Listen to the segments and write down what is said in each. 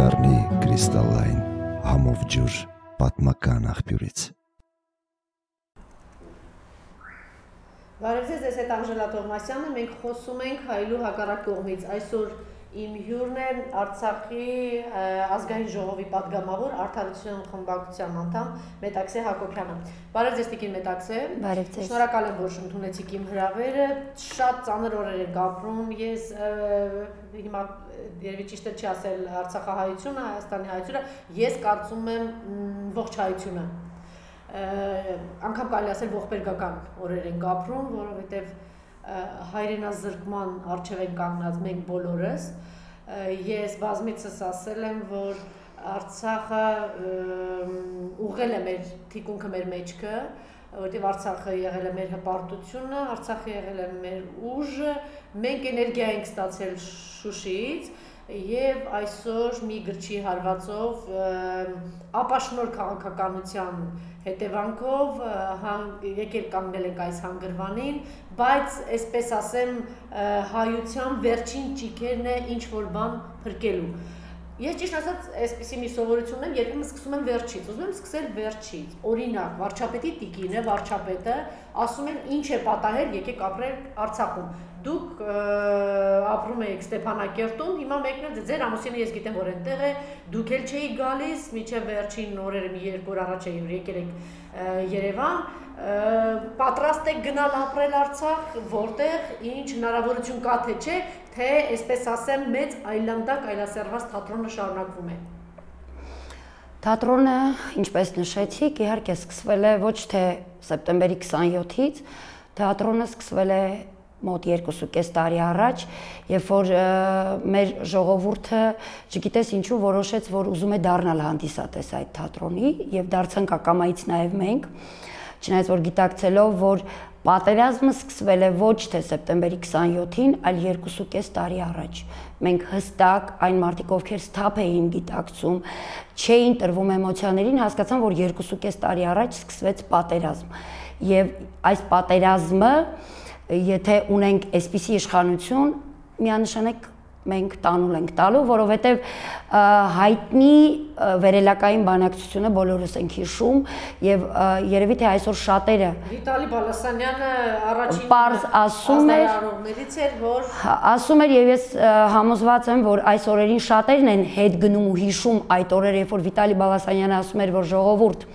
կդառնի կրիստալային համով ջուր պատմական աղբյուրից։ Բարև ձեզ, ես հետ Անժելա Տողմասյանը, մենք խոսում ենք հայելու հակառակ կողմից։ Այսօր իմ հյուրն է Արցախի ազգային ժողովի պատգամավոր Արդարության խմբակցության անդամ Մետաքսե Հակոբյանը։ Բարև ձեզ տիկին Մետաքսե։ Բարև ձեզ։ Շնորհակալ եմ, որ ընդունեցիք իմ հրավերը։ Շատ ծանր օրեր ենք ապրում։ Ես հիմա երևի ճիշտ է չի ասել Արցախահայությունը, Հայաստանի հայությունը, ես կարծում եմ ողջ հայությունը։ Անգամ կարելի ասել ողբերգական օրեր ենք ապրում, որովհետև հայրենազրկման առջև են կանգնած մենք բոլորս։ Ես բազմիցս ասել եմ, որ Արցախը ուղղել է մեր թիկունքը մեր մեջքը, որտեղ Արցախը եղել է մեր հպարտությունը, Արցախը եղել է մեր ուժը, մենք էներգիա ենք ստացել Շուշիից եւ այսօր մի գրչի հարվածով ապաշնոր քաղաքականության հետևանքով եկել կանգնել ենք այս հանգրվանին, բայց այսպես ասեմ հայության վերջին ճիգերն է ինչ որ բան փրկելու։ Ես ճիշտ ասած այսպեսի մի սովորություն ունեմ, երբեմն սկսում եմ վերջից, ուզում եմ սկսել վերջից։ Օրինակ, վարչապետի տիկինը, վարչապետը ասում են ինչ է պատահել, եկեք ապրենք Արցախում։ Դուք ապրում եք Ստեփանակերտում, հիմա մեկն է ձեր ամուսինը ես գիտեմ որ այնտեղ է, դուք էլ չէի գալիս, մինչև վերջին օրերը մի երկու օր առաջ է եկել եք Երևան, պատրաստ եք գնալ ապրել Արցախ, որտեղ ինչ հնարավորություն կա թե չէ, թե այսպես ասեմ մեծ այլանդակ այլասերված թատրոնը շարունակվում է։ Թատրոնը, ինչպես նշեցիք, իհարկե սկսվել է ոչ թե սեպտեմբերի 27-ից, թատրոնը սկսվել է մոտ 2.5 տարի առաջ, երբ որ մեր ժողովուրդը, չգիտես ինչու, որոշեց, որ ուզում է դառնալ հանդիսատես այդ թատրոնի եւ դարձանք ակամայից նաեւ մենք, չնայած որ գիտակցելով, որ պատերազմը սկսվել է ոչ թե սեպտեմբերի 27-ին, այլ 2.5 տարի առաջ։ Մենք հստակ այն մարդիկ, ովքեր սթափ էին գիտակցում, չէին տրվում էմոցիաներին, հասկացան, որ 2.5 տարի առաջ սկսվեց պատերազմ։ Եվ այս պատերազմը եթե ունենք այսպիսի իշխանություն, միանշանակ մենք տանուլ ենք տալու, որովհետև հայտնի վերելակային բանակցությունը բոլորս ենք հիշում եւ երևի թե այսօր շատերը Վիտալի Բալասանյանը առաջին պարզ ասում էր, որ ասում էր եւ ես համոզված եմ, որ այս օրերին շատերն են հետ գնում ու հիշում այդ օրերը, երբ որ Վիտալի Բալասանյանը ասում էր, որ ժողովուրդ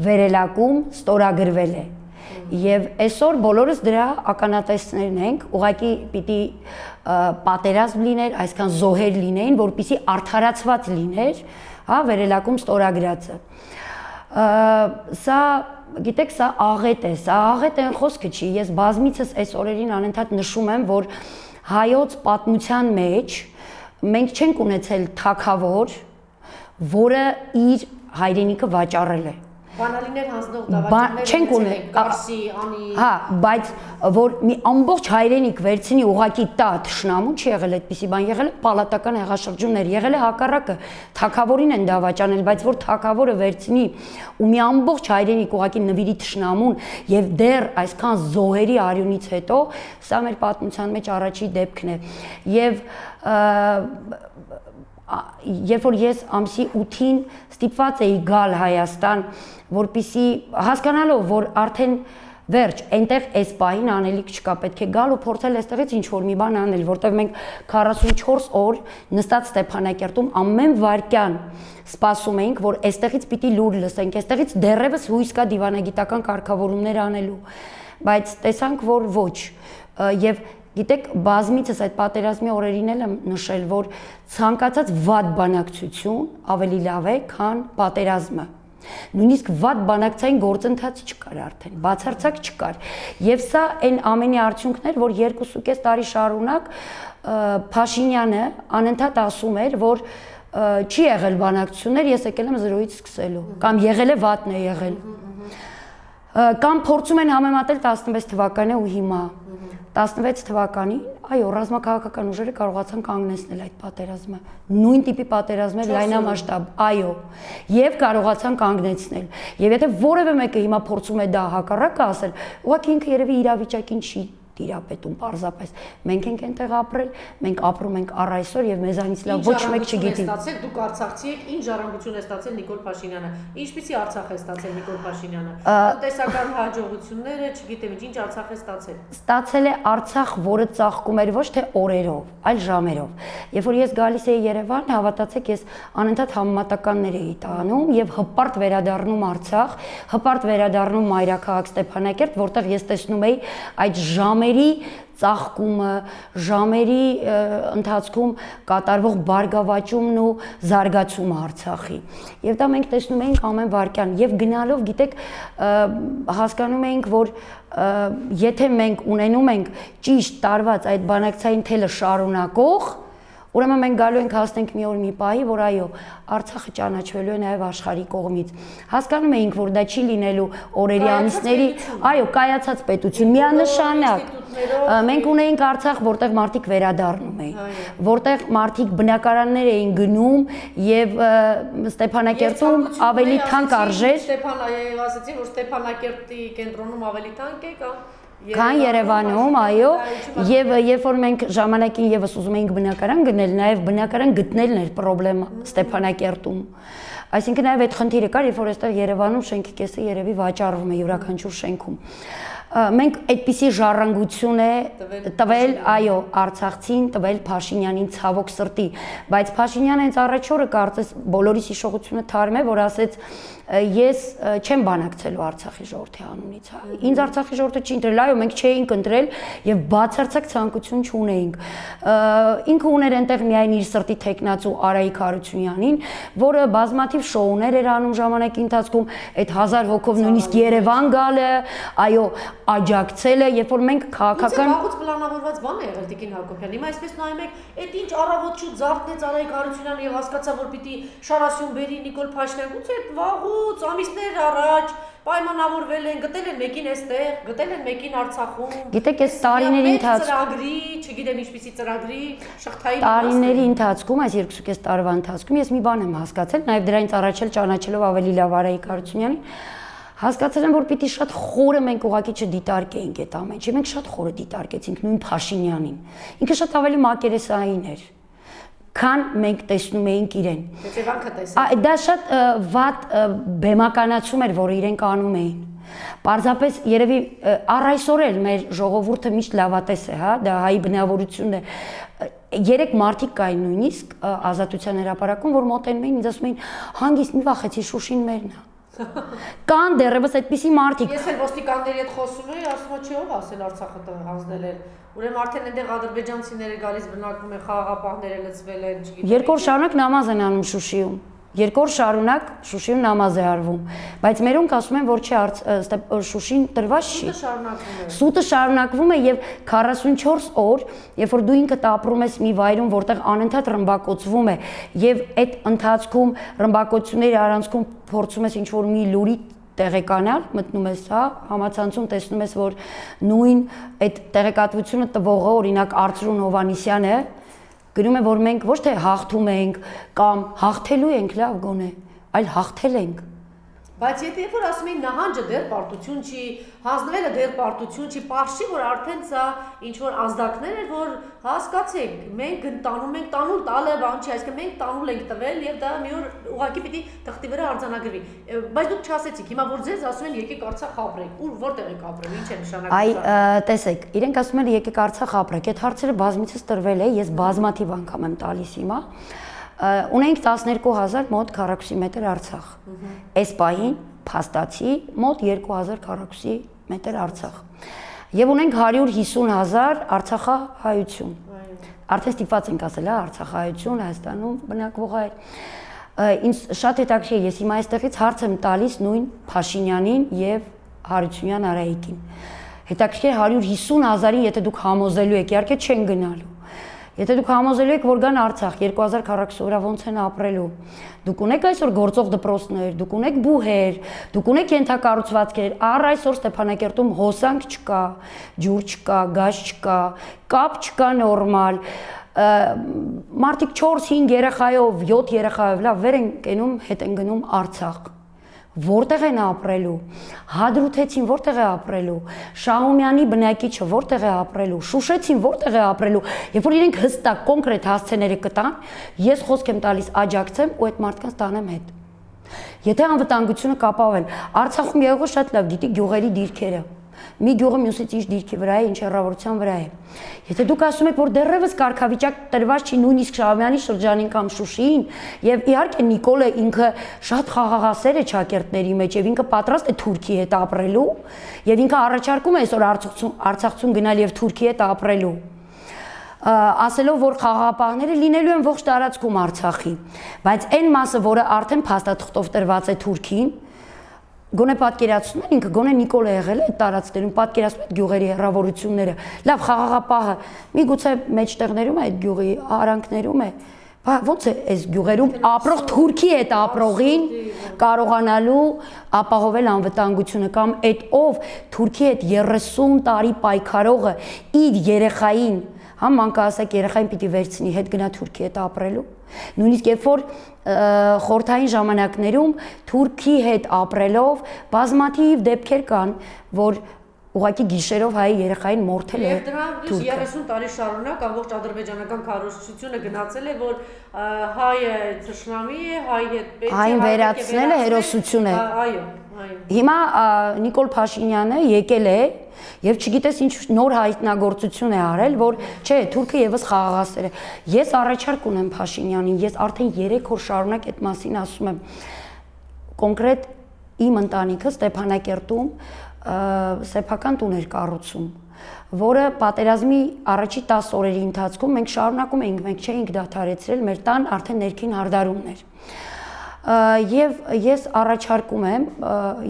վերելակում ստորագրվել է։ Եվ այսօր բոլորս դրա ականատեսներն ենք, ուղղակի պիտի պատերազմ լիներ, այսքան զոհեր լինեին, որպեսզի արդարացված լիներ, հա, վերելակում ստորագրածը։ Սա, գիտեք, սա աղետ է խոսքը չի, ես բազմիցս այս օրերին անընդհատ նշում եմ, որ հայոց պատմության մեջ մենք չենք ունեցել թագավոր, որը իր հայրենիքը վաճառել է։ Բանալիներ հանձնող դավաճաններ են Կարսի, Անի։ Հա, բայց որ մի ամբողջ հայրենիք վերցնի ուղակի տա թշնամու չի եղել այդպիսի բան, եղել է պալատական հեղաշրջումներ, եղել է հակառակը, թագավորին են դավաճանել, բայց որ թագավորը վերցնի ու մի ամբողջ հայրենիք ուղակի նվիրի թշնամուն եւ դեռ այսքան զոհերի արյունից հետո, սա մեր պատմության մեջ առաջի դեպքն է։ Եվ երբ որ ես ամսի 8-ին ստիպված էի գալ Հայաստան, որպեսզի հասկանալով, որ արդեն վերջ, այնտեղ այս պահին անելիք չկա, պետք է գալ ու փորձել այստեղից ինչ-որ մի բան անել, որտեղ մենք 44 օր նստած Ստեփանակերտում ամեն վայրկյան սպասում էինք, որ այստեղից պիտի լուր լսենք, այստեղից դեռևս հույս կա դիվանագիտական կարգավորումներ անելու, բայց տեսանք, որ ոչ, եւ գիտեք, բազմիցս այդ պատերազմի օրերին էլ եմ նշել, որ ցանկացած վատ բանակցություն ավելի լավ է, քան պատերազմը։ Նույնիսկ վատ բանակցային գործընթաց չկար արդեն, բացարձակ չկար։ Եվ սա այն ամենի արդյունքն էր, որ 2.5 տարի շարունակ Փաշինյանը անընդհատ ասում էր, որ չի եղել բանակցություններ, ես եկել եմ զրոյից սկսելու, կամ եղել է վատն է եղել։ Կամ փորձում են համեմատել 16 թվականը ու հիմա։ 16 թվականին, այո, ռազմաքաղաքական ուժերը կարողացան կանգնեցնել այդ պատերազմը։ Նույն տիպի պատերազմներ լայնամասշտաբ, այո, եւ կարողացան կանգնեցնել։ Եվ եթե որևէ մեկը հիմա փորձում է դա հակառակը ասել, ուղղակի ինքը երևի իրավիճակին չի տիրապետում պարզապես։ Մենք ենք այնտեղ ապրել, մենք ապրում ենք առ այսօր եւ մեզանից լավ ոչ մեկ չգիտի։ Դուք Արցախցի եք, ինչ ժառանգություն է ստացել Նիկոլ Փաշինյանը։ Ինչպիսի Արցախ է ստացել Նիկոլ Փաշինյանը։ Տնտեսական հաջողությունները, չգիտեմ, ինչ Արցախ է ստացել։ Ստացել է Արցախ, որը ծաղկում էր ոչ թե օրերով, այլ ժամերով։ Երբ որ ես գալիս էի Երևան, հավատացեք, ես անընդհատ համեմատականներ էի տանում եւ հպարտ վերադառնում Արցախ, հպարտ վերադառնում մայրաքաղաք Ստեփանակերտ, որտեղ ես տեսնում էի այդ ժամերի ծաղկումը, ժամերի ընթացքում կատարվող բարգավաճումն ու զարգացումը Արցախի։ Եվ դա մենք տեսնում էինք ամեն վայրկյան եւ գնալով, գիտեք, հասկանում էինք, որ եթե մենք ունենում ենք ճիշտ տարված այդ բանակցային թելը շարունակող, ուրեմն մենք գալու ենք հասնենք մի օր մի պահի, որ այո, Արցախը ճանաչվելու է նաև աշխարհի կողմից։ Հասկանում էինք, որ դա չի լինելու օրերի ամիսների, այո, կայացած պետություն, միանշանակ։ Մենք ունեինք Արցախ, որտեղ մարդիկ վերադառնում էին, որտեղ մարդիկ բնակարաններ էին գնում եւ Ստեփանակերտում ավելի թանկ արժեր։ Ասացի, որ Ստեփանակերտի կենտրոնում ավելի թանկ է կամ Քան Երևանում, այո, եւ երբ որ մենք ժամանակին եւս ուզում էինք բնակարան գնել, նաեւ բնակարան գտնելն էր խնդրեմը Ստեփանակերտում։ Այսինքն նաեւ այդ խնդիրը կար, երբ որ այստեղ Երևանում շենքի կեսը երևի վաճառվում է յուրաքանչյուր շենքում։ Մենք այդպիսի ժառանգություն է տվել, այո, Արցախցին, տվել Փաշինյանին ցավոք սրտի, բայց Փաշինյանը հենց առաջ օրը կարծես բոլորիս հիշողությունը թարմ է, որ ասեց ես չեմ բանակցելու Արցախի ժողովրդի անունից, ինձ Արցախի ժողովուրդը չի ընտրել, այո, մենք չէինք ընտրել եւ բացարձակ ցանկություն չունեինք։ Ինքը ուներ այնտեղ միայն իր սրտի թեկնածու Արայիկ Հարությունյանին, որը բազմաթիվ շոուներ էր անում ժամանակի ընթացքում, այդ 1000 հոգով նույնիսկ Երևան գալը, այո, աջակցել է, երբ որ մենք քաղաքական վաղուց պլանավորված բան է եղել Տիկին Հակոբյան։ Հիմա այսպես նայում եք, այդ ինչ առավոտ շուտ զարթնեց Արայիկ Հարությունյանը եւ հասկացա, որ պիտի Շարասյուն բերի Նիկոլ Փաշինյան, գուցե վաղուց ամիսներ առաջ պայմանավորվել են, գտել են մեկին այստեղ, գտել են մեկին Արցախում։ Գիտեք, այս տարիների ընթացքում ծրագրի, չգիտեմ ինչպիսի ծրագրի, շղթայի տարիների ընթացքում, այս 2.5 տարվա ընթացքում ես մի բան եմ հասկացել, նաեւ դրանից առաջ էլ ճանաչելով ավելի լավ Արայիկ Հարությունյանին, հասկացել եմ, որ պիտի շատ խորը մենք ուղղակի չդիտարկեինք այդ ամեն ինչը, մենք շատ խորը դիտարկեցինք նույն Փաշինյանին։ Ինքը շատ ավելի մակերեսային էր, քան մենք տեսնում էինք իրեն։ Դա շատ վատ բեմականացում էր, որ իրենք անում էին։ Պարզապես երևի առ այսօր էլ մեր ժողովուրդը միշտ լավատես է, հա, դա հայի բնավորությունն է։ Երեք մարդիկ կային նույնիսկ Ազատության հրապարակում, որ մոտենում էին, ինձ ասում էին, հանգիստ մի վախեցի, Շուշին մերն է։ Կան դեռևս այդպիսի մարդիկ։ Ես էլ ոստիկանների հետ խոսում էի, ասում եմ, չէ՞ ով ասել Արցախը հանձնել են։ Ուրեմն արդեն այնտեղ ադրբեջանցիները գալիս բնակվում են, խաղաղապահները լցվել են, չգիտեմ։ Երկու օր շարունակ նամազ են անում Շուշիում։ Երկու օր շարունակ Շուշիում նամազ է արվում, բայց մերոնք ասում են, որ չէ, Շուշին տրված չի։ Սուտը շարունակվում է եւ 44 օր, երբ որ դու ինքդ ապրում ես մի վայրում, որտեղ անընդհատ ռմբակոծվում է եւ այդ ընթացքում ռմբակոծությունների առանցքում փորձում ես ինչ-որ մի լուրի տեղեկանալ, մտնում ես, հա, համացանցում տեսնում ես, որ նույն այդ տեղեկատվությունը տվողը, օրինակ Արծրուն Հովանիսյանը գրում է, որ մենք ոչ թե հաղթում ենք կամ հաղթելու ենք, լավ գոնե, այլ հաղթել ենք։ Բայց եթե որ ասում են նահանջը դեռ պարտություն չի, հանձնվելը դեռ պարտություն չի, պարզ չի, որ արդեն սա ինչ որ ազդակներ էր, որ հասկացեք, մենք տանում ենք, տանուլ տալը բան չի, այսինքն մենք տանուլ ենք տվել եւ դա մի օր ուղղակի պիտի թղթի վրա արձանագրվի։ Բայց դուք չասեցիք, հիմա որ ձեզ ասում են եկեք Արցախ ապրեք, որտեղ եք ապրել, ինչ է նշանակում։ Այ տեսեք, իրենք ասում են եկեք Արցախ ապրեք, այդ հարցերը բազմիցս տրվել է, ես բազմաթիվ անգամ եմ տալիս հիմա։ Ունենք 12000 մոտ քառակուսի մետր Արցախ։ Այս պահին փաստացի մոտ 2000 քառակուսի մետր Արցախ։ Եվ ունենք 150,000 արցախահայություն։ Արդեն ստիպված ենք ասել, հա, արցախահայություն Հայաստանում բնակվող այ։ Ինձ շատ հետաքրքիր է, ես հիմա այստեղից հարց եմ տալիս նույն Փաշինյանին եւ Հարությունյան Արայիկին։ Հետաքրքիր 150,000-ին, եթե դուք համոզելու եք, իհարկե չեն գնալու։ Եթե դուք համոզելու եք, որ գան Արցախ 2000 քառակուսի վրա ոնց են ապրելու, դուք ունեք այսօր գործող դպրոցներ, դուք ունեք բուհեր, դուք ունեք ենթակառուցվածքեր, առ այսօր Ստեփանակերտում հոսանք չկա, ջուր չկա, գազ չկա, կապ չկա նորմալ, մարդիկ 4-5 երեխայով, 7 երեխայով լավ վեր են կենում, հետ են գնում Արցախ, որտեղ են ապրելու, Հադրութեցին որտեղ է ապրելու, Շահումյանի բնակիչը որտեղ է ապրելու, Շուշեցին որտեղ է ապրելու, երբ որ իրենք հստակ կոնկրետ հասցեները կտան, ես խոսք եմ տալիս աջակցեմ ու այդ մարդկանց տանեմ հետ։ Եթե անվտանգությունը կապավել, Արցախում եղողը շատ լավ գիտի գյուղերի դիրքերը։ Մի գյուղը մյուսից ինչ դիրքի վրա է, ինչ հեռավորության վրա է։ Եթե դուք ասում եք, որ դեռևս կարգավիճակ տրված չի նույնիսկ Շահումյանի շրջանին կամ Շուշիին, եւ իհարկե Նիկոլը ինքը շատ խաղաղասեր է ճակերտների մեջ եւ ինքը պատրաստ է Թուրքի հետ ապրելու, եւ ինքը առաջարկում է այսօր Արցախցուն գնալ եւ Թուրքի հետ ապրելու։ Ասելով, որ խաղաղապահները լինելու են ողջ տարածքում Արցախի, բայց այն մասը, որը արդեն փաստաթղթով տրված է Թուրքին, գոնե պատկերացնում են ինքը գոնե Նիկոլը եղել է այդ տարածքներում, պատկերացնում է գյուղերի հեռավորությունները, լավ խաղաղապահը միգուցե մեջտեղներում է այդ գյուղի արանքներում է, ոնց է այս գյուղերում ապրող Թուրքի հետ ապրողին կարողանալու ապահովել անվտանգությունը կամ այդ ով Թուրքի հետ 30 տարի պայքարողը իր երեխային, մանկահասակ երեխային պիտի վերցնի հետ գնա Թուրքի հետ ապրելու։ Նույնիսկ երբ որ խորհրդային ժամանակներում Թուրքի հետ ապրելով բազմաթիվ դեպքեր կան, որ ուղղակի գիշերով հայ երեխային մորթել է Թուրքը։ Եվ 30 տարի շարունակ ամբողջ ադրբեջանական քարոզչությունը գնացել է, որ հայը թշնամի է, հայ հետ պետք է հային վերացնել է հերոսություն է։ Այո։ Հիմա Նիկոլ Փաշինյանը եկել է եւ չգիտես ինչ նոր հայտնագործություն է արել, որ չէ, Թուրքը եւս խաղաղասեր է։ Ես առաջարկ ունեմ Փաշինյանին, ես արդեն 3 օր շարունակ այդ մասին ասում եմ։ Կոնկրետ իմ ընտանիքը Ստեփանակերտում սեփական տուն էր կառուցում, որը պատերազմի առաջի 10 օրերի ընթացքում մենք շարունակում էինք, մենք չէինք դադարեցրել, մեր տան արդեն ներքին հարդարումն էր։ Եվ ես առաջարկում եմ,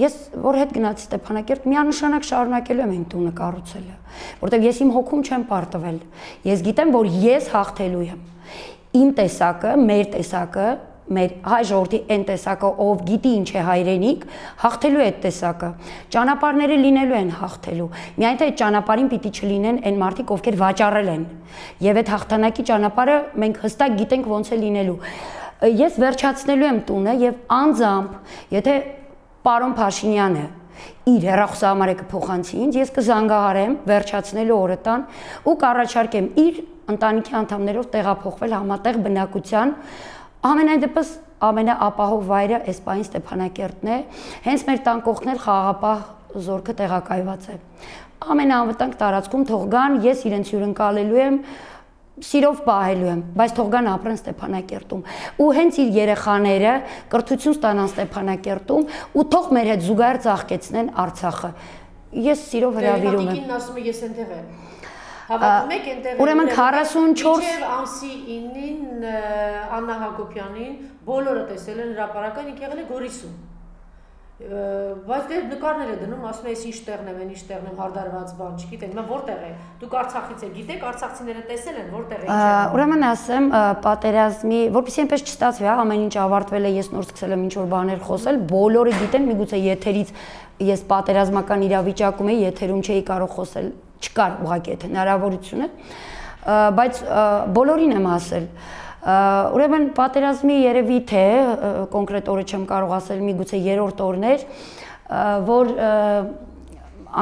ես որ հետ գնացի Ստեփանակերտ, միանշանակ շարունակելու եմ իմ տունը կառուցելը, որտեղ ես իմ հոգում չեմ պարտվել։ Ես գիտեմ, որ ես հաղթելու եմ։ Իմ տեսակը, մեր տեսակը, մեր հայ ժողովրդի այն տեսակը, ով գիտի ինչ է հայրենիք, հաղթելու է այդ տեսակը։ Ճանապարհները լինելու են հաղթելու։ Միայն թե այդ ճանապարհին պիտի չլինեն այն մարդիկ, ովքեր վաճառել են։ Եվ այդ հաղթանակի ճանապարհը մենք հստակ գիտենք ոնց է լինելու։ Ես վերջացնելու եմ տունը եւ անձամբ, եթե պարոն Փաշինյանը իր հեռախոսահամարը կփոխանցի ինձ, ես կզանգահարեմ վերջացնելու օրը տան ու կառաջարկեմ իր ընտանիքի անդամներով տեղափոխվել համատեղ բնակության, ամենայն դեպս ամենաապահով վայրը այս պահին Ստեփանակերտն է, հենց մեր տան կողքն էլ խաղաղապահ զորքը տեղակայված է։ Ամենաանվտանգ տարածքում թող գան, ես իրենց հյուրընկալելու եմ, սիրով պահելու եմ, բայց թող գան ապրեն Ստեփանակերտում ու հենց իր երեխաները կրթություն ստանան Ստեփանակերտում ու թող մեր հետ զուգահեռ ծաղկեցնեն Արցախը։ Ես սիրով հրավիրում եմ։ Տիկինն ասում է ես այնտեղ եմ։ Հավատում եք այնտեղ։ Ուրեմն 44 Մինչև ամսի 9-ին Աննա Հակոբյանին բոլորը տեսել են հրապարական, ինք եղել է Գորիսում։ Բայց դե նկարներ է դնում, ասում է ես ինչ տեղն եմ, ինչ տեղն եմ, հարդարված բան, չգիտեմ, հիմա որտեղ է։ Դուք Արցախից եք, գիտեք, արցախցիները տեսել են, որտեղ է, ինչ է։ Ուրեմն ասեմ, պատերազմի, որպեսզի այնպես չստացվի, ամեն ինչ ավարտվել է, ես նոր սկսել եմ ինչ-որ բաներ խոսել, բոլորը գիտեն, միգուցե եթերից ես պատերազմական իրավիճակում էի, եթերում չէի կարող խոսել, չկար ուղղակի այդ հնարավորությունը, բայց բոլորին եմ ասել։ Ուրեմն պատերազմի երևի թե կոնկրետ օրը չեմ կարող ասել, միգուցե 3-րդ օրն էր, որ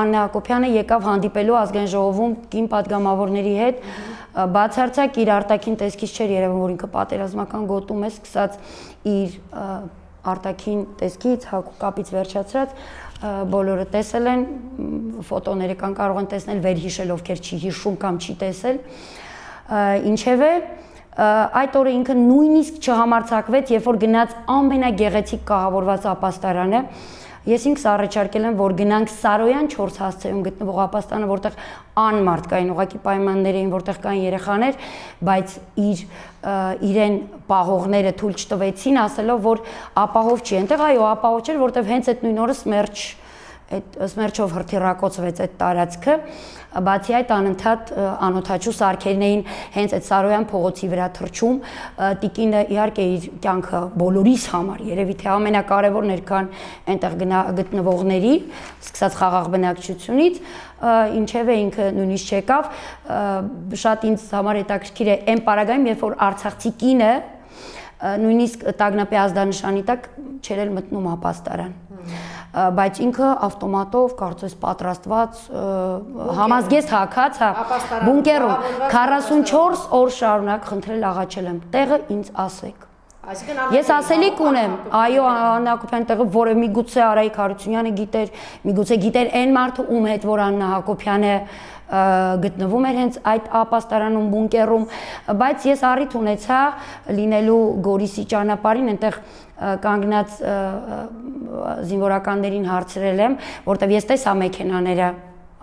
Աննա Հակոբյանը եկավ հանդիպելու ազգային ժողովում կին պատգամավորների հետ, բացարձակ իր արտաքին տեսքից չէր երևում, որ ինքը պատերազմական գոտում է, սկսած իր արտաքին տեսքից, հակուկապից վերջացրած, բոլորը տեսել են, ֆոտոները կան, կարող են տեսնել, վերհիշել, ովքեր չի հիշում կամ չի տեսել, ինչևէ այդ օրը ինքը նույնիսկ չհամարձակվեց, երբ որ գնաց ամենագեղեցիկ կահավորված ապաստարանը, ես ինքս առաջարկել եմ, որ գնանք Սարոյան 4 հասցեում գտնվող ապաստանը, որտեղ անմարդ կային, ուղղակի պայմաններ էին, որտեղ կային երեխաներ, բայց իրեն պահողները թույլ չտվեցին, ասելով, որ ապահով չի, այնտեղ այո, ապահով չէր, որտեղ հենց այդ նույն օրը Սմերչով հրթիռակոծվեց այդ տարածքը, բացի այդ անընդհատ անօթաչու սարքերն էին հենց այդ Սարոյան փողոցի վրա թռչում, տիկինը իհարկե իր կյանքը բոլորիս համար, երևի թե ամենակարևորն էր, քան այնտեղ գտնվողների, սկսած խաղաղ բնակչությունից, ինչևէ ինքը նույնիսկ չեկավ, շատ ինձ համար հետաքրքիր է այն պարագայում, երբ որ արցախցի կինը նույնիսկ տագնապի ազդանշանի տակ չէր էլ մտնում ապաստարան։ Բայց ինքը ավտոմատով կարծես պատրաստված համազգեստ հագած, բունկերում 44 օր շարունակ խնդրել աղաչել եմ, տեղը ինձ ասեք։ Ես ասելիք ունեմ, այո, Աննա Հակոբյանի տեղը, որը միգուցե Արայիկ Հարությունյանը գիտեր, միգուցե գիտեր այն մարդը, ում հետ որ Աննա Հակոբյանը գտնվում էր հենց այդ ապաստարանում, բունկերում, բայց ես առիթ ունեցա լինելու Գորիսի ճանապարհին, այնտեղ կանգնած զինվորականներին հարցրել եմ, որտեվ ես տեսա մեքենաները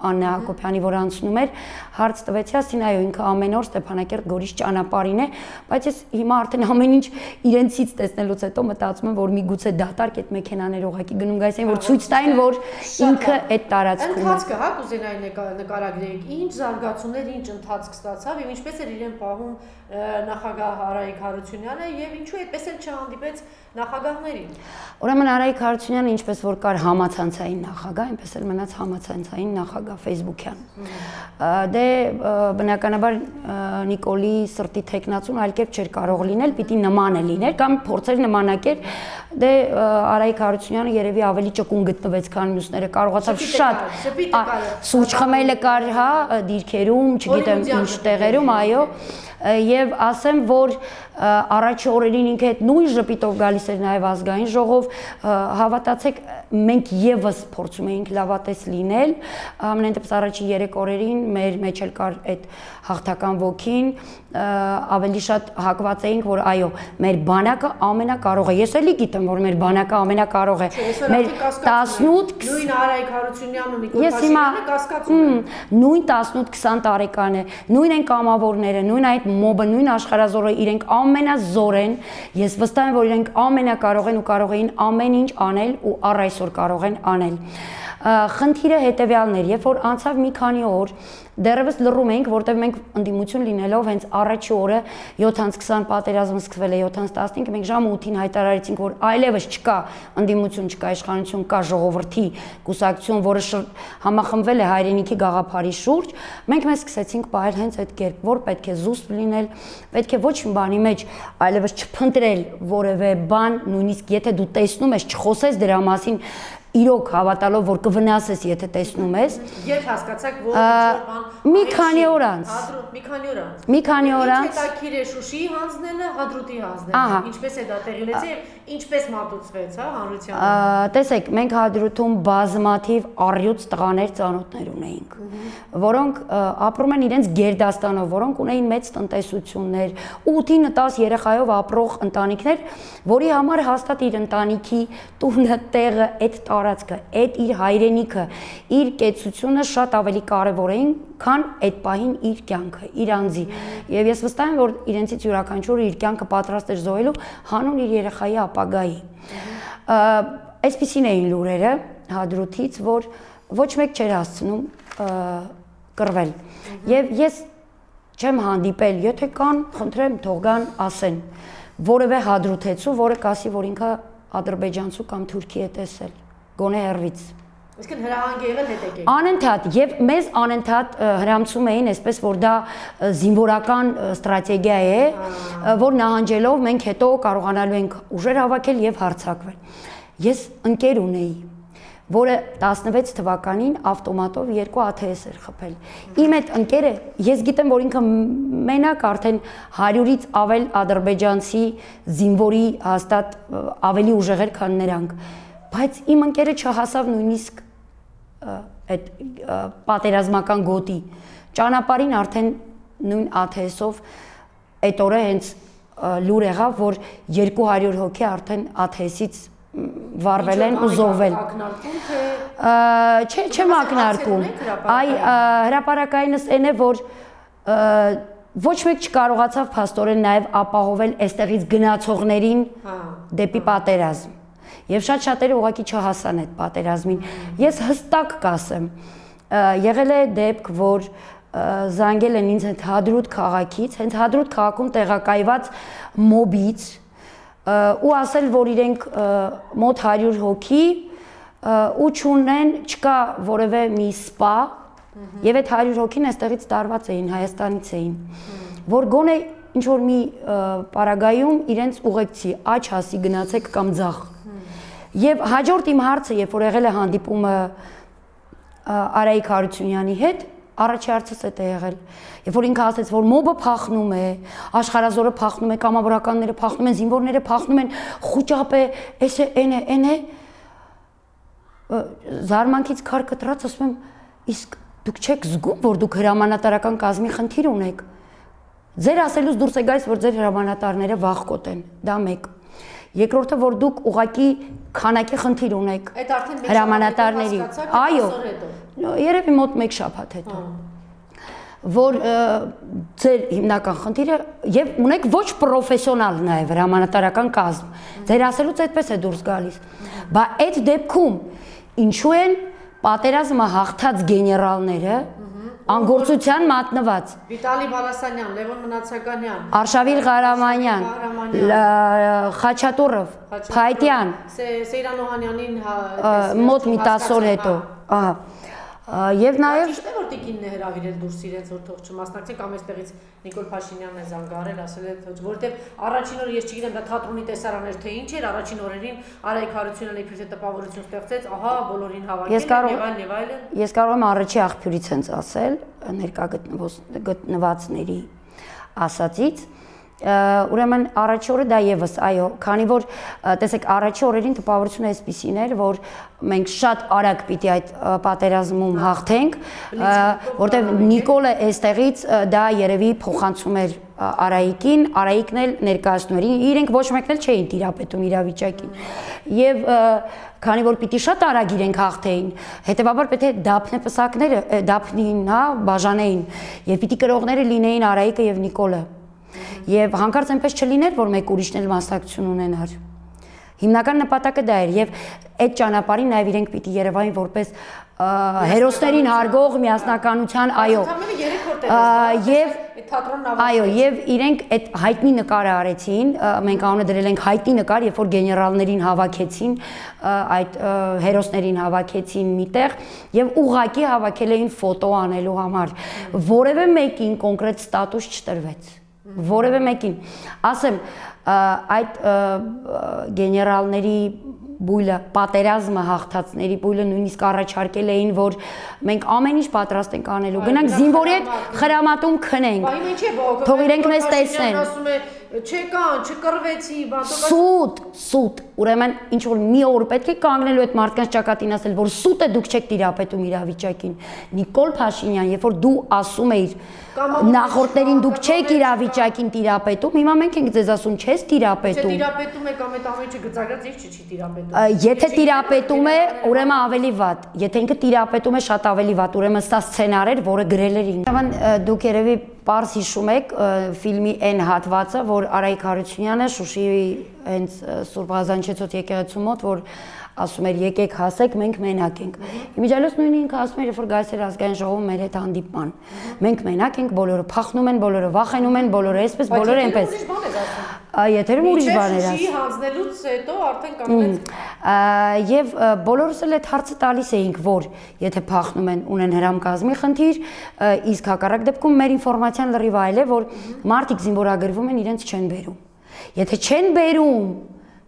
Աննա Հակոբյանի, որ անցնում էր, հարց տվեցի, ասին այո, ինքը ամեն օր Ստեփանակերտ Գորիս ճանապարհին է, բայց ես հիմա արդեն ամեն ինչ իրենցից տեսնելուց հետո մտածում եմ, որ միգուցե դատարկ այդ մեքենաները ուղղակի գնում գայս են, որ ցույց տային, որ ինքը այդ տարածքում է։ Ընթացքը, հա, կուզենայի նկարագրեիք, ինչ զարգացումներ, ինչ ընթացք ստացավ եւ ինչպես էր իրեն պահում նախագահ Արայիկ Հարությունյանը եւ ինչու այդպես էլ չհանդիպեց նախագահներին։ Ուրեմն Արայիկ Հարությունյանը ինչպես որ կար համացանցային նախագահ, այնպես էլ մնաց համացանցային նախագահ Facebook-յան։ Դե բնականաբար Նիկոլի սրտի թեկնածուն այլ կերպ չէր կարող լինել, պիտի նմանը լիներ կամ փորձեր նմանակեր։ Դե Արայիկ Հարությունյանը երևի ավելի ճկուն գտնվեց, քան մյուսները, կարողացավ շատ սուրճ խմելը կար, հա, դիրքերում, չգիտեմ ինչ տեղերում, այո, եւ ասեմ, որ առաջի օրերին ինքը այդ նույն ժպիտով գալիս էր նաեւ ազգային ժողով, հավատացեք, մենք եւս փորձում էինք լավատես լինել, ամենայն դեպս առաջի 3 օրերին մեր մեջ էլ կար այդ հաղթական ոգին, ավելի շատ հակված էինք, որ այո, մեր բանակը ամենակարող է։ Ես էլի գիտեմ, որ մեր բանակը ամենակարող է։ Մեր 18 նույն Արայիկ Հարությունյանն ու Նիկոլ Փաշինյանը կասկածում են։ Նույն 18-20 տարեկան է, նույն են կամավորները, նույն այդ մոբը, նույն աշխարհազորը, իրենք ամենազոր են։ Ես վստահ եմ, որ իրենք ամենակարող են ու կարող էին ամեն ինչ անել ու առ այսօր կարող են անել։ Խնդիրը հետևյալն էր, երբ որ անցավ մի քանի օր, դեռևս լռում էինք, որտեղ մենք ընդդիմություն լինելով հենց առաջի օրը 7:20 պատերազմը սկսվել է 7:15, մենք ժամը 8-ին հայտարարեցինք, որ այլևս չկա ընդդիմություն, չկա իշխանություն, կա ժողովրդի կուսակցություն, որը համախմբվել է հայրենիքի գաղափարի շուրջ, մենք մեզ սկսեցինք պահել հենց այդ կերպ, որ պետք է զուսպ լինել, պետք է ոչ մի բանի մեջ այլևս չփնտրել որևէ բան, նույնիսկ եթե դու տեսնում ես, չխոսես դրա մասին, իրոք հավատալով, որ կվնասես, եթե տեսնում ես։ Երբ հասկացաք, որ ինչ-որ բան մի քանի օր անց։ Մի քանի օր անց։ Հետաքրքիր է Շուշիի հանձնելը, Հադրութի հանձնելը։ Ինչպես է դա տեղի ունեցել եւ ինչպես մատուցվեց, հա, հանրությանը։ Տեսեք, մենք Հադրութում բազմաթիվ առյուծ տղաներ ծանոթներ ունեինք, որոնք ապրում են իրենց գերդաստանով, որոնք ունեին մեծ տնտեսություններ, 8-10 երեխայով ապրող ընտանիքներ, որի համար հաստատ իր ընտանիքի տունը, տեղը, այդ տարածքը, այդ իր հայրենիքը, իր կեցությունը շատ ավելի կարևոր էին, քան այդ պահին իր կյանքը, իր անձի։ Եվ ես վստահ եմ, որ իրենցից յուրաքանչյուրը իր կյանքը պատրաստ էր զոհելու հանուն իր երեխայի ապագայի։ Այսպիսին էին լուրերը Հադրութից, որ ոչ մեկ չէր հասցնում կռվել։ Եվ ես չեմ հանդիպել, եթե կան, խնդրեմ, թող գան ասեն, որևէ հադրութեցու, որը կասի, որ ինքը ադրբեջանցու կամ թուրքի է տեսել, գոնե հեռվից։ Իսկն հրահանգ եղել հետ եկեք։ Անընդհատ եւ մեզ անընդհատ հրամցում էին, այսպես որ դա զինվորական ստրատեգիա է, որ նահանջելով մենք հետո կարողանալու ենք ուժեր հավաքել եւ հարձակվել։ Ես ընկեր ունեի, որը 16 թվականին ավտոմատով 2 ATS էր խփել։ Իմ այդ ընկերը, ես գիտեմ, որ ինքը մենակ արդեն 100-ից ավել ադրբեջանցի զինվորի հաստատ ավելի ուժեղ էր, քան նրանք, բայց իմ ընկերը չհասավ նույնիսկ այդ պատերազմական գոտի ճանապարհին արդեն նույն ATS-ով այդ օրը հենց լուր եղավ, որ 200 հոգի արդեն ATS-ից վառվել են ու զոհվել։ Չեմ ակնարկում։ Այ հրապարակայինս այն է, որ ոչ մեկ չկարողացավ փաստորեն նաև ապահովել այստեղից գնացողներին դեպի պատերազմ։ Եվ շատ շատերը ուղղակի չհասան այդ պատերազմին։ Ես հստակ կասեմ, եղել է դեպք, որ զանգել են ինձ հենց Հադրութ քաղաքից, հենց Հադրութ քաղաքում տեղակայված մոբից ու ասել, որ իրենք մոտ 100 հոգի ու չունեն, չկա որևէ մի սպա, եւ այդ 100 հոգին այստեղից տարված էին, Հայաստանից էին, որ գոնե ինչ որ մի պարագայում իրենց ուղեկցի աճ հասի գնացեք կամ ձախ։ Եվ հաջորդ իմ հարցը, երբ որ եղել է հանդիպումը Արայիկ Հարությունյանի հետ, առաջի հարցս է եղել։ Երբ որ ինքը ասեց, որ մոբը փախնում է, աշխարհազորը փախնում է, կամավորականները փախնում են, զինվորները փախնում են, խուճապ է, էս է, այն է, զարմանքից քար կտրած ասում եմ, իսկ դուք չեք զգում, որ դուք հրամանատարական կազմի խնդիր ունեք։ Ձեր ասելուց դուրս է գալիս, որ ձեր հրամանատարները վախկոտ են, դա մեկ։ Երկրորդը, որ դուք ուղղակի քանակի խնդիր ունեք հրամանատարների։ Այո, երևի մոտ 1 շաբաթ հետո։ Որ ձեր հիմնական խնդիրը եւ ունեք ոչ պրոֆեսիոնալ նաեւ հրամանատարական կազմ։ Ձեր ասելուց այդպես է դուրս գալիս։ Բա այդ դեպքում ինչու են պատերազմը հաղթած գեներալները անգործության մատնված։ Վիտալի Բալասանյան, Լևոն Մնացականյան, Արշավիլ Ղարամանյան, Խաչատուրով, Փայտյան, Սեյրան Օհանյանին մոտ մի 10 օր հետո, ահա։ Եվ նաև ճիշտ է որ տիկինն է հրավիրել դուրս իրենց որ թող չմասնակցի կամ այստեղից Նիկոլ Փաշինյանն է զանգարել ասել է որովհետև առաջին օրը ես չգիտեմ դա թատրոնի տեսարան էր թե ինչ էր առաջին օրերին Արայիկ Հարությունյանը իբրև տպավորություն ստեղծեց ահա բոլորին հավաքել եւ այլն ես կարող եմ առաջի աղբյուրից հենց ասել ներկա գտնվածների ասածից ուրեմն առաջի օրը դա եւս այո քանի որ տեսեք առաջի օրերին տպավորությունը այսպիսին էր որ մենք շատ արագ պիտի այդ պատերազմում հաղթենք որտեղ Նիկոլը այստեղից դա երևի փոխանցում էր Արայիկին Արայիկն էլ ներկայացնում էր իրենք ոչ մեկն էլ չէին տիրապետում իրավիճակին եւ քանի որ պիտի շատ արագ իրենք հաղթեին հետեւաբար պետք է դափնեպսակները դափնին հա բաժանեին եւ պիտի կրողները լինեին Արայիկը եւ Նիկոլը Եվ հանկարծ այնպես չլիներ, որ մեկ ուրիշն էլ մասնակցություն ունենար։ Հիմնական նպատակը դա էր եւ այդ ճանապարհին նաեւ իրենք պիտի Երևանին որպես հերոսներին հարգող միասնականության, այո։ Եւ այո, եւ իրենք այդ հայտնի նկարը արեցին, մենք անունը դրել ենք հայտնի նկար, երբ որ գեներալներին հավաքեցին, այդ հերոսներին հավաքեցին միտեղ եւ ուղակի հավաքել էին ֆոտո անելու համար։ Որևէ մեկին կոնկրետ ստատուս չտրվեց։ Որևէ մեկին ասեմ այդ գեներալների բույլը պատերազմը հաղթածների բույլը նույնիսկ առաջարկել էին որ մենք ամեն ինչ պատրաստ ենք անելու գնանք զինվորի հետ խրամատում քնենք թող իրենք մեզ տեսնեն չեկան չկռվեցի սուտ ուրեմն ինչ որ մի օր պետք է կանգնելու այդ մարդկանց ճակատին ասել որ սուտ է դուք չեք տիրապետում իրավիճակին Նիկոլ Փաշինյան երբ որ դու ասում էիր նախորդներին դուք չեք իրավիճակին տիրապետում հիմա մենք ենք ձեզ ասում չես տիրապետում տիրապետում եք ամեն ինչը գծագրած ինչ չի տիրապետում եթե տիրապետում է ուրեմն ավելի վատ եթե ինքը տիրապետում է շատ ավելի վատ ուրեմն սա սցենար էր որը գրել էր ինքը դուք երևի Պարզ հիշում եք ֆիլմի այն հատվածը, որ Արայիկ Հարությունյանը Շուշիի հենց Սուրբ Ղազանչեցոտ եկեղեցու մոտ, որ ասում էր եկեք հասեք, մենք մենակ ենք։ Իմիջիայլոց նույնը ինքը ասում էր, երբ որ գալիս էր ազգային ժողովում մեր հետ հանդիպման։ Մենք մենակ ենք, բոլորը փախնում են, բոլորը վախենում են, բոլորը այսպես, բոլորը այնպես։ Եթերում ուրիշ բան էր ասում։ Հանձնելուց հետո արդեն կանգնեց։ Եվ բոլորս էլ այդ հարցը տալիս էինք, որ եթե փախնում են, ունեն հրամկազմի խնդիր, իսկ հակառակ դեպքում մեր ինֆորմացիան լրիվ այլ է, որ մարդիկ զինվորագրվում են, իրենց չեն բերում։ Եթե չեն բերում,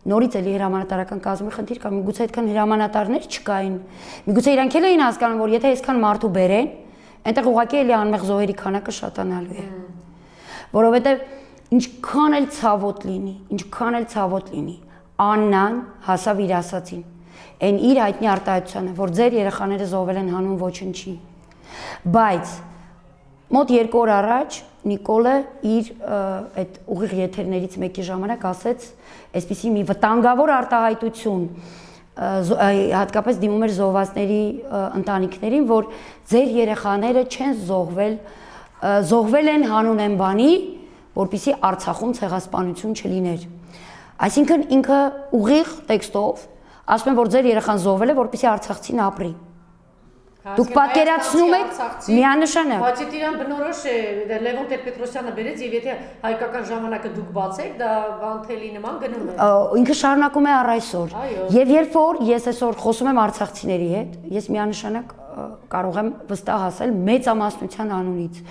նորից էլի հրամանատարական կազմի խնդիր կա, միգուցե այդքան հրամանատարներ չկային։ Միգուցե իրանք էլ էին հասկանում, որ եթե այսքան մարդու բերեն, այնտեղ ուղղակի էլի անմեղ զոհերի քանակը շատանալու է։ Որովհետև ինչքան էլ ցավոտ լինի, Աննան հասավ իր ասացին։ Այն իր հայտնի արտահայտությանը, որ ձեր երեխաները զոհվել են հանուն ոչնչի։ Բայց մոտ 2 օր առաջ Նիկոլը իր այդ ուղիղ եթերներից մեկի ժամանակ ասեց, այսպիսի մի վտանգավոր արտահայտություն հատկապես դիմում էր զոհվածների ընտանիքներին, որ ձեր երեխաները չեն զոհվել են հանուն այն բանի, որպեսզի Արցախում ցեղասպանություն չլիներ։ Այսինքն ինքը ուղիղ տեքստով ասում է, որ ձեր երեխան զոհվել է, որպեսզի արցախցին ապրի։ Դուք պատկերացնում եք միանշանակ։ Բայց եթե իրան բնորոշ է, Լևոն Տեր-Պետրոսյանը բերեց եւ եթե հայկական ժամանակը դուք բացեք, դա Վանթելի նման գնում է։ Ինքը շարունակում է առ այսօր։ Եվ երբ որ ես այսօր խոսում եմ արցախցիների հետ, ես միանշանակ կարող եմ վստահ ասել մեծամասնության անունից,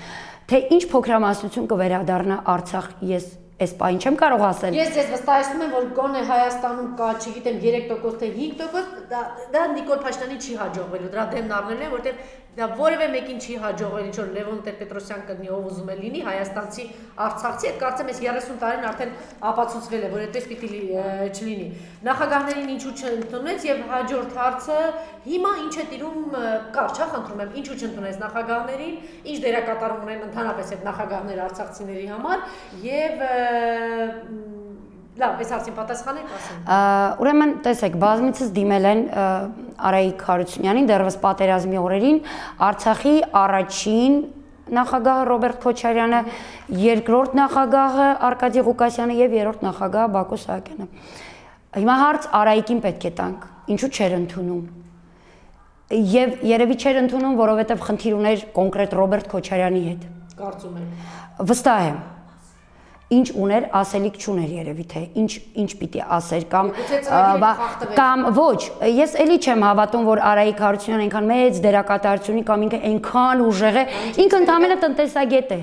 թե ինչ փոքրամասնություն կվերադառնա Արցախ, ես այս պահին չեմ կարող ասել։ Ես ձեզ վստահեցնում եմ, որ գոնե Հայաստանում կա, չգիտեմ, 3% թե 5%, դա Նիկոլ Փաշինյանին չի հաջողվելու, դրա դեմն առնելու են, որտեղ դա որևէ մեկին չի հաջողվել, ինչ որ Լևոն Տեր-Պետրոսյան կդնի, ով ուզում է լինի, հայաստանցի, արցախցի, այդ կարծեմ ես 30 տարին արդեն ապացուցվել է, որ այդպես պիտի չլինի։ Նախագահներին ինչու չընդունեց եւ հաջորդ հարցը հիմա ինչ է տիրում կարճ, հա, խնդրում եմ, ինչու չընդունեց նախագահներին, ինչ դերակատարում ունեն ընդհանրապես այդ նախագահները արցախցիների համար եւ լավ, այս հարցին պատասխանեք, ասեմ։ Ուրեմն, տեսեք, բազմիցս դիմել են Արայիկ Հարությունյանին դեռևս պատերազմի օրերին Արցախի առաջին նախագահը Ռոբերտ Քոչարյանը, երկրորդ նախագահը Արկադի Ղուկասյանը եւ երրորդ նախագահը Բակո Սահակյանը։ Հիմա հարց Արայիկին պետք է տանք, ինչու չէր ընդունում։ Եվ երևի չէր ընդունում, որովհետեւ խնդիր ուներ կոնկրետ Ռոբերտ Քոչարյանի հետ։ Կարծում եմ։ Վստահ եմ։ Ինչ ուներ, ասելիք չուներ երևի թե ինչ պիտի ասեր կամ ոչ, ես էլի չեմ հավատում, որ Արայիկ Հարությունյանը այնքան մեծ դերակատարություն ունի կամ ինքը այնքան ուժեղ է, ինքը ընդամենը տնտեսագետ է։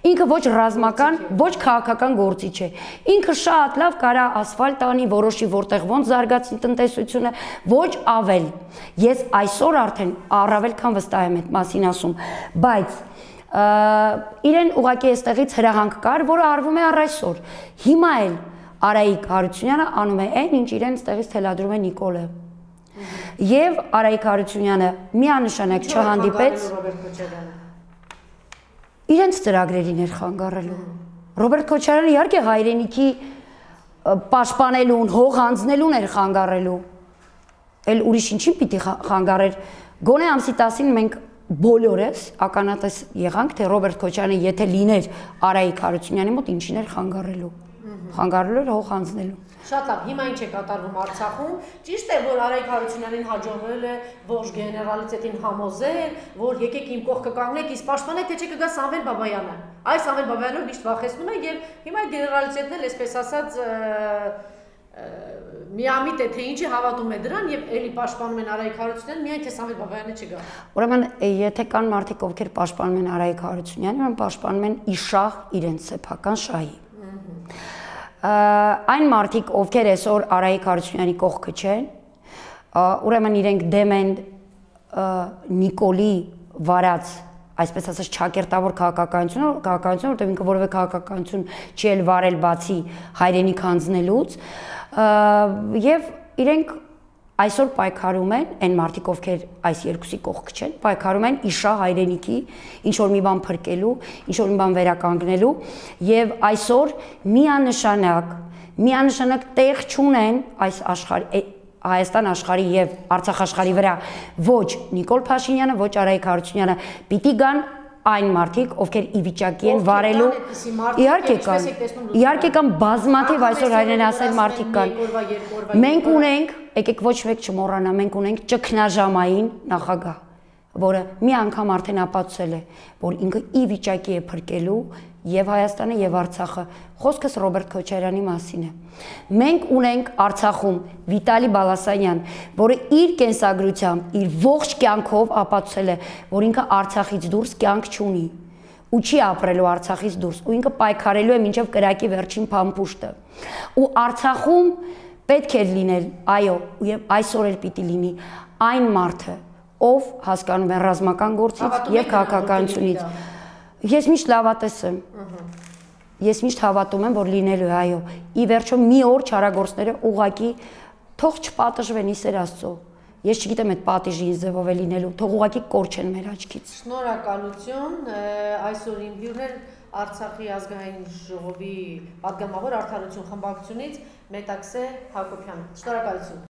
Ինքը ոչ ռազմական, ոչ քաղաքական գործիչ է։ Ինքը շատ լավ կարա ասֆալտ անի, որոշի որտեղ ոնց զարգացնի տնտեսությունը, ոչ ավել։ Ես այսօր արդեն առավել քան վստահ եմ այդ մասին ասում, բայց իրեն ուղղակի այստեղից հրահանգ կար, որը արվում է առ այսօր։ Հիմա էլ Արայիկ Հարությունյանը անում է այն, ինչ իրեն այստեղից թելադրում է Նիկոլը։ Եվ Արայիկ Հարությունյանը միանշանակ չհանդիպեց իրենց ծրագրերին էր խանգարելու։ Ռոբերտ Քոչարյանը իհարկե հայրենիքի պաշտպանելուն, հող հանձնելուն էր խանգարելու։ Էլ ուրիշ ինչին պիտի խանգարեր։ Գոնե ամսի 10-ին մենք բոլորս ականատես եղանք, թե Ռոբերտ Քոչարյանը եթե լիներ Արայիկ Հարությունյանի մոտ ինչին էր խանգարելու։ Խանգարելու էր հող հանձնելու։ Շատ լավ, հիմա ինչ է կատարվում Արցախում։ Ճիշտ է, որ Արայիկ Հարությունյանին հաջողվել է ողջ գեներալիտետին համոզել, որ եկեք իմ կողքը կանգնեք, իսկ պաշտպանեք, թե չէ կգա Սամվել Բաբայանը։ Այս Սամվել Բաբայանը միշտ վախեցնում է եւ հիմա գեներալիտետն էլ այսպես ասած միամիտ է, թե ինչի հավատում է դրան եւ էլի պաշտպանում են Արայիկ Հարությունյանին, միայն թե Սամվել Բաբայանը չգա։ Ուրեմն, եթե կան մարդիկ, ովքեր պաշտպանում են Արայիկ Հարությունյանին, ուրեմն պաշտպանում են իշահ իրենց սեփական շահի։ Այն մարդիկ, ովքեր այսօր Արայիկ Հարությունյանի կողքը չեն, ուրեմն իրենք դեմ են Նիկոլի վարած, այսպես ասած, չակերտավոր քաղաքականություն, որտեղ ինքը որևէ քաղաքականություն չի էլ վարել բացի հայրենիք հանձնելուց, եւ իրենք այսօր պայքարում են այն մարդիկ, ովքեր այս երկուսի կողք չեն, պայքարում են իշահ հայրենիքի ինչ որ մի բան փրկելու, ինչ որ մի բան վերականգնելու եւ այսօր միանշանակ տեղ չունեն այս աշխարհի Հայաստան աշխարհի եւ Արցախ աշխարհի վրա ոչ Նիկոլ Փաշինյանը, ոչ Արայիկ Հարությունյանը, պիտի գան այն մարդիկ, ովքեր ի վիճակի են վարելու, իհարկե կան բազմաթիվ այսօր հայրենասեր մարդիկ կան։ Մենք ունենք, եկեք ոչ մեկ չմոռանա, մենք ունենք ճգնաժամային նախագահ, որը մի անգամ արդեն ապացուցել է, որ ինքը ի վիճակի է փրկելու եւ Հայաստանը եւ Արցախը։ Խոսքս Ռոբերտ Քոչարյանի մասին է։ Մենք ունենք Արցախում Վիտալի Բալասանյան, որը իր կենսագրությամբ, իր ողջ կյանքով ապացուցել է, որ ինքը Արցախից դուրս կյանք չունի ու չի ապրելու Արցախից դուրս, ու ինքը պայքարելու է մինչև կրակի վերջին փամփուշտը։ Ու Արցախում պետք է լինել, այո, եւ այսօր էլ պիտի լինի այն մարդը, ով հասկանում է ռազմական գործից եւ քաղաքականությունից։ Ես միշտ լավատես եմ։ Ես միշտ հավատում եմ, որ լինելու է, այո։ Ի վերջո մի օր չարագործները ուղակի թող չպատժվեն Իսեր Աստծո։ Ես չգիտեմ այդ պատիժի ինչ ձևով է լինելու, թող ուղակի կորչեն մեր աչքից։ Շնորհակալություն, այսօր իմ հյուրն էր Արցախի ազգային ժողովի պատգամավոր Արդարություն խմբակցությունից Մետաքսե Հակոբյանը։ Շնորհակալություն։